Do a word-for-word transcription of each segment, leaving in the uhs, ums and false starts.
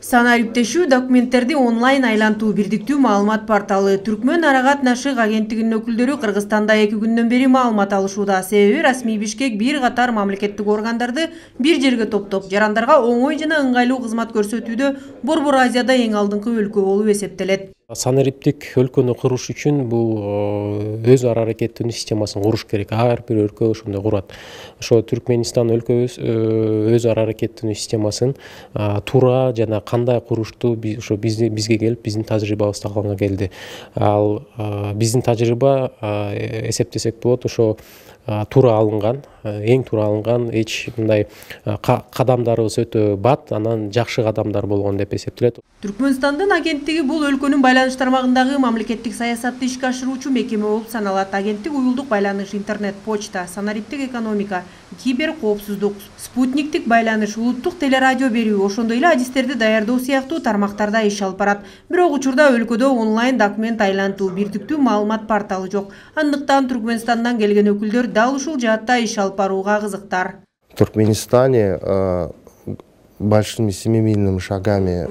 Санариптешүү документтерди онлайн айлантуу бирдиктүү маалымат порталы Түркмөн ара катнашык агенттигинин өкүлдөрү Кыргызстанда эки күндөн бери маалымат алышууда. Себеби расмий Бишкек бир катар мамлекеттик органдарды бир жерге топтоп, жарандарга оңой жана ыңгайлуу кызмат көрсөтүүдө Борбор Азияда эң алдыңкы өлкө болуп эсептелет. Санариптик өлкөнү куруш үчүн бул өз ара аракеттенүү системасын куруш керек. Ар бир өлкө ошондой курат. Ошо Түркмөнстан өлкөбүз өз ара аракеттенүү системасын туура жана кандай курушту ошо бизге келип, биздин тажрыйбабызды алганга келди. Ал биздин тажрыйба эсептесек болот, ошо туура алынган, эң туура алынган, эч мындай кадамдарыбыз өтө бат, анан жакшы кадамдар болгон деп эсептелет. Түркмөнстандын агенттиги бул өлкөнүн байланыш тармагындагы мамлекеттик саясатты ишке ашыруучу мекеме болуп саналат. Агенттик уюлдук байланыш, интернет, почта, санариптик экономика, кибер коопсуздук, спутниктик байланыш, улуттук телерадио берүү, ошондой эле адистерди даярдоо сыяктуу тармактарда иш алып барат. Бирок учурда өлкөдө онлайн документ айлантуу бирдиктүү маалымат порталы жок. Андыктан Түркмөнстандан келген өкүлдөр дал ушул жаатта иш алып барууга кызыктар. В Туркменистане большими семимильными шагами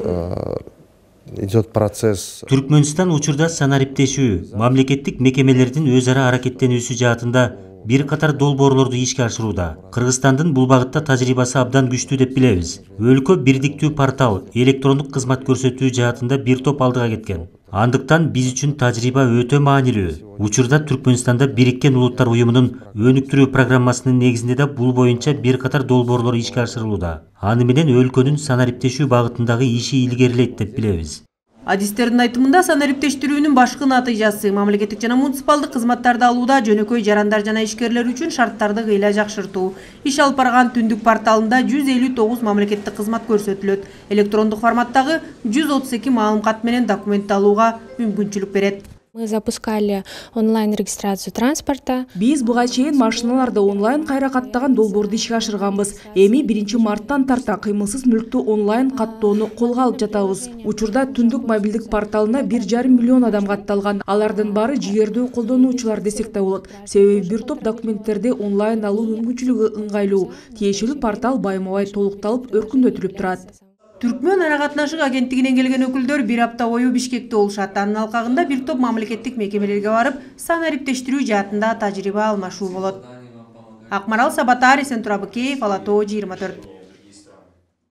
идет процесс. Түркмөнстан учурда санариптешүү, мамлекеттик мекемелердин өз ара аракеттенүүсү жаатында бир катар долбоорлорду ишке ашырууда. Кыргызстандын бул багытта тажрыйбасы абдан күчтүү деп билебиз. Өлкө бирдиктүү портал, электрондук кызмат көрсөтүү жаатында бир топ алдыга кеткен. Андыктан биз үчүн тажрыйба өтө маанилүү. Учурда Түркмөнстанда Бириккен Улуттар уюмунун өнүктүрүү программасынын негизинде да бул боюнча бир катар долбоорлор ишке ашырылууда. Аны менен өлкөнүн санариптешүү багытындагы иши илгерилейт деп билебиз. Адистердин айтымында санариптештирүүнүн башкы натыйжасы мамлекеттик жана муниципалдык кызматтарды алууда жөнөкөй жарандар жана ишкерлер үчүн шарттарды кыйла жакшыртуу. Иш алып барган түндүк порталында жүз элүү тогуз мамлекеттик кызмат көрсөтүлөт. Электрондук форматтагы жүз отуз эки маалымкат менен документ алууга мүмкүнчүлүк берет. Мы запускали онлайн-регистрацию транспорта. Биз буга чейин машиналарды онлайн кайра каттаган долбоорду ишке ашырганбыз. Эми биринчи марттан тарта кыймылсыз мүлктү онлайн каттоону колго алып жатабыз. Учурда түндүк мобилдик порталына бир жарым миллион адам катталган. Алардын баары жигердүү колдонуучулар десек да болот. Себеби бир топ документтерди онлайн алуу мүмкүнчүлүгү ыңгайлуу. Тиешелүү портал байма-бай толукталып, өркүндөтүлүп турат. Түркмөн ара катнашык агенттигинен келген өкүлдөр бир апта бою Бишкекте болушат. Анын алкагында бир топ мамлекеттик мекемелерге барып, санариптештирүү жаатында тажрыйба алмашуу болот. Акмарал Сабатар, Эсентур Абыкеев, Ала Тоо жыйырма төрт.